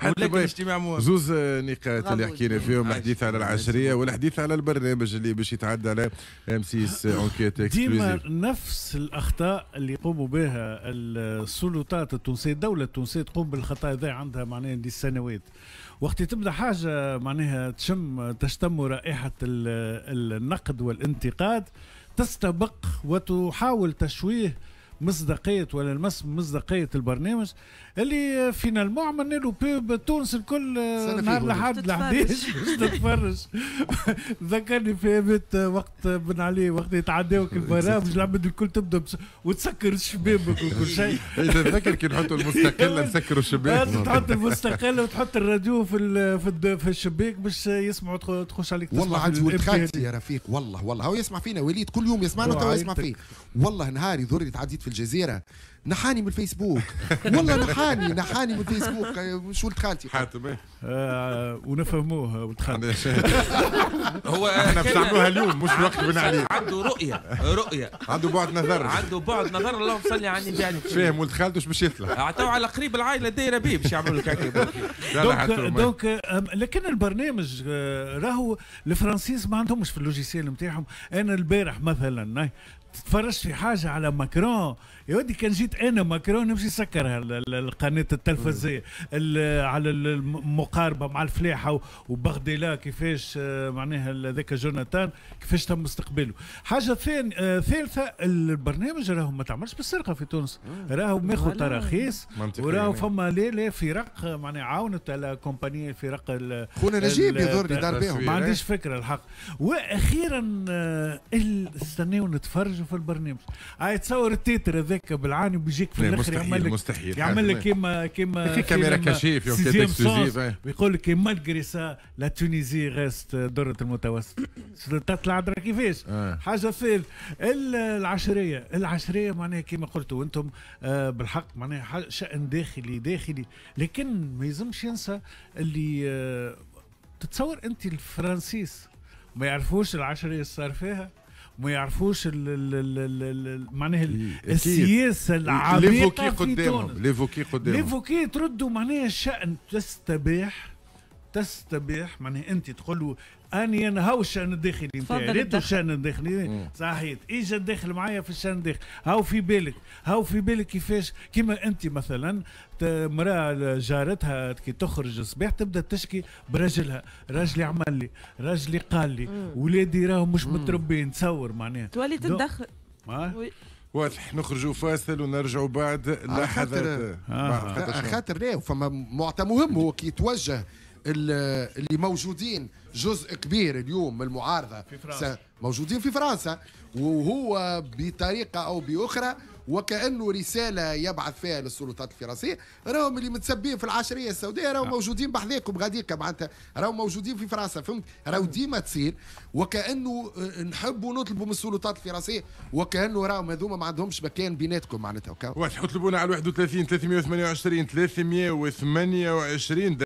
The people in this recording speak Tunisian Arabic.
ولكن اجتماع مهم. زوز نقاط اللي حكينا فيهم، الحديث على العشريه والحديث على البرنامج اللي باش يتعدى على M6 enquête ديما نفس الاخطاء اللي يقوموا بها السلطات التونسيه، الدولة التونسية تقوم بالخطا هذا عندها معناها لسنوات. وقت تبدا حاجة معناها تشتم رائحة النقد والانتقاد، تستبق وتحاول تشويه مصداقية ولا المس مصداقية البرنامج اللي finalement عملنا له pub تونس الكل نهار لحد 11 باش تتفرج. ذكرني في بيت وقت بن علي، وقت يتعداوك البرامج العباد الكل تبدا وتسكر الشبابك وكل شيء. تتذكر كي نحطوا المستقلة نسكروا الشباك، تحط المستقلة وتحط الراديو في الشباك باش يسمعوا، تخش عليك. والله عندي ولد خالتي يا رفيق، والله هو يسمع فينا، وليد كل يوم يسمعنا، تو يسمع فيه. والله نهار يضر تعديت في الجزيرة نحاني من الفيسبوك، والله نحاني من الفيسبوك، مش ولد خالتي حاتم. ونفهموه ولد خالتي. هو احنا باش نعملوها اليوم مش وقت بن علي. عنده رؤية، عنده بعد نظر، عنده بعد نظر. اللهم صل على النبي. يعني فاهم ولد خالته باش يطلع. عطاو على قريب العائلة دايرة بيه باش يعملوا لك هكا. donc لكن البرنامج راهو الفرنسيس ما عندهمش في ال logiciel نتاعهم. انا البارح مثلا تتفرجت في حاجة على ماكرون، يا ودي كان جيت انا ماكرون نمشي نسكرها القناة التلفزيه على المقاربة مع الفلاحة وبغديلا كيفاش معناها ذاك جوناتان كيفاش تم استقباله. حاجة ثالثة، البرنامج راهو ما تعملش بالسرقة في تونس، راهو ماخذ تراخيص، وراهو فما لا فرق معناها عاونت على compagnie فرق خونا نجيب يضر دار بهم، ما عنديش فكرة الحق. واخيرا استناو نتفرجوا في البرنامج. هاي تصور ال titre هذاك بالعاني وبيجيك في الاخر يعمل لك مستحيل، يعمل لك كيما caméra cachée في enquête exclusive، ويقول لك malgré ça la Tunisie reste درة المتوسط. تطلع درا كيفاش. حاجة ثالث، العشريه معناها كيما قلتوا انتم بالحق معناها شأن داخلي، لكن ما يلزمش ينسى اللي تتصور انت الفرنسيس ما يعرفوش العشريه اللي صار فيها، ما يعرفوش معناها السياسة العميقة في تونس. l'évoquer قدامهم، l'évoquer تردوا معناها الشأن تستبيح معناها انت تقول له اني انا هاو الشأن الداخلي نتاعي، ريتو الشأن الداخلي صحيت، اجا داخل معايا في الشأن الداخلي، هاو في بالك، هاو في بالك كيفاش. كيما انت مثلا امراة جارتها كي تخرج الصباح تبدا تشكي برجلها، راجلي عمل لي، راجلي قال لي، ولادي راهم مش متربيين، تصور معناها تولي تتدخل. واضح. نخرجوا فاصل ونرجعوا بعد لحظات. خاطر لا فما معطى مهم، هو كي يتوجه اللي موجودين جزء كبير اليوم من المعارضة في فرنسا، موجودين في فرنسا، وهو بطريقة أو بأخرى وكأنه رسالة يبعث فيها للسلطات الفرنسية، راهم اللي متسبين في العشرية السوداء راهم موجودين بحذاكم غاديك، معناتها راهم موجودين في فرنسا، فهمت؟ راهو ديما تصير وكأنه نحبوا نطلبوا من السلطات الفرنسية وكأنه راهم هذوما ما عندهمش مكان بيناتكم معناتها. واضح. اطلبونا على 31 328 328.